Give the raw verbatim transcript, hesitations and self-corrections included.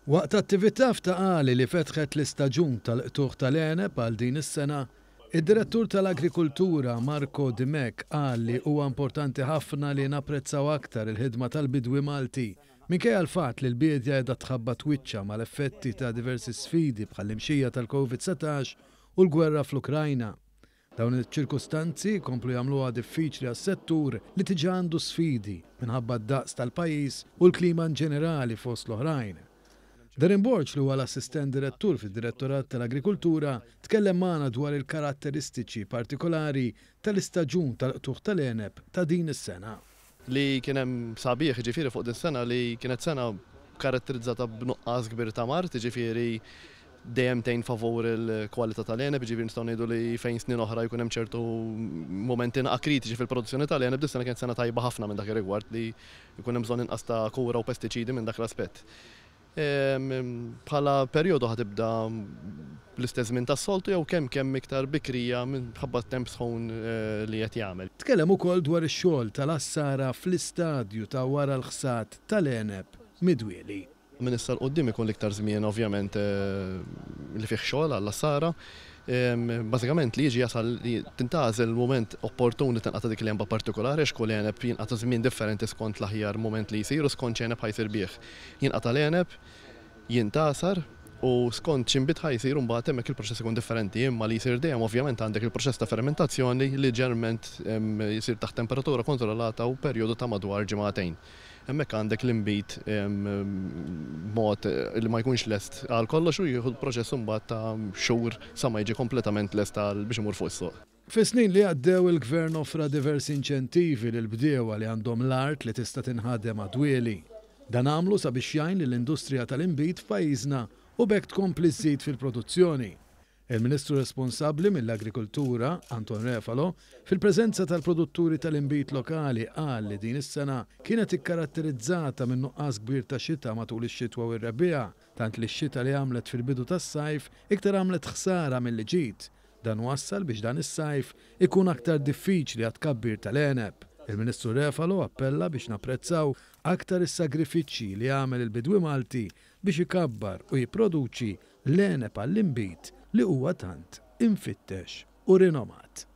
Waqt attività f'Ta' Qali li fetħet l-istaġun tal-qtugħ tal-għeneb għal din is-sena, id-Direttur tal-Agrikultura Marco Dimech qal li huwa importanti ħafna li napprezzaw aktar il-ħidma tal-bidwi Malti minkejja l-fatt li l-biedja qiegħda tħabbat wiċċha mal-effetti ta' diversi sfidi bħall-imxija tal-Covid satax u l-gwerra fl-Ukrajna. Dawn iċ-ċirkustanzi komplu jagħmluha diffiċli għas-settur li diġà għandu sfidi minħabba d-daqs tal-pajjiż u l-klima in ġenerali fost l-oħrajn. Darren Borg, li huwa l-assistent direttur fid-Direttorat tal-Agrikultura, tkellem magħna dwar il-karatteristiċi partikolari tal-istaġun tal-qtugħ tal-għeneb ta' din is-sena. Li kien hemm sabiħ ġifieri fuq din sena li kienet sena karatterizzata b'nuqqas kbir ta' mard, ġifieri dejjem tgħin favur il-kwalità tal-għeneb, ġifieri nistgħu ngħidu li fejn snin oħra jkun hemm ċertu momenti naqa' kritiċi fil-produzzjoni tal-għeneb, dis sena kienet sena tajba ħafna minn dak ir-rigward li jkun hemm bżonn inqas ta' kura u pestiċidi minn dak l-aspett. Bħala perjodu ħatibda l-istess żmien tas-soltu jew kemm kemm iktar bikrija minħabba temp sħun li qed jagħmel. Tkellem ukoll dwar ix-xogħol tal-għassara fl-istadju ta' wara l-ħsad tal-għeneb midwieli. Minn issa 'l quddiem ikun l-iktar żmien ovvjament li fih xogħol għall-għassara. Bażikament li jiġi jasal li tintgħażel il-mument opportun li tinqata' dik l-għenba partikolari għax kull għeneb jinqata' żmien differenti skont l-aħjar mument li jsir u skont x'għeneb ħajsir bih. Jinqata' l-għeneb, jintgħasar u skont x'inbid ħajsir imbagħad hemmhekk il-proċess ikun differenti, imma li jsir dejjem ovvjament għandek il-proċess ta' fermentazzjoni li ġeneralment jsir taħt temperatura kontrollata u perjodu ta' madwar ġimagħtejn. Hemmhekk għandek l-inbid b'mod li ma jkunx lest għal kollox u jieħu l-proċess imbagħad ta' xhur sa ma jiġi kompletament lest għal biex imur fuq is-suq. Fis-snin li għaddew il-Gvern offra diversi inċentivi lil bdiewa li għandhom l-art li tista' tinħadem għad-dwieli. Dan għamlu sabiex jgħin lill-industrija tal-inbid f'pajjiżna u b'hekk tkompli żżid fil-produzzjoni. Il-Ministru responsabbli mill-Agrikultura, Anton Refalo, fil-preżenza tal-produtturi tal-inbid lokali qal li din is-sena kienet ikkaratterizzata minn nuqqas kbir ta' xita matul ix-xitwa u r-rebbiegħa, tant li x-xita li għamlet fil-bidu tas-sajf iktar għamlet ħsara milli ġid. Dan wassal biex dan is-sajf ikun aktar diffiċli għat-tkabbir tal-għeneb. Il-Ministru Refalo appella biex napprezzaw aktar is-sagrifiċċji li għamel il-bidwi Malti biex ikabbar u jipproduċi l-għeneb għall-inbid li huwa tant infittex u rinomat.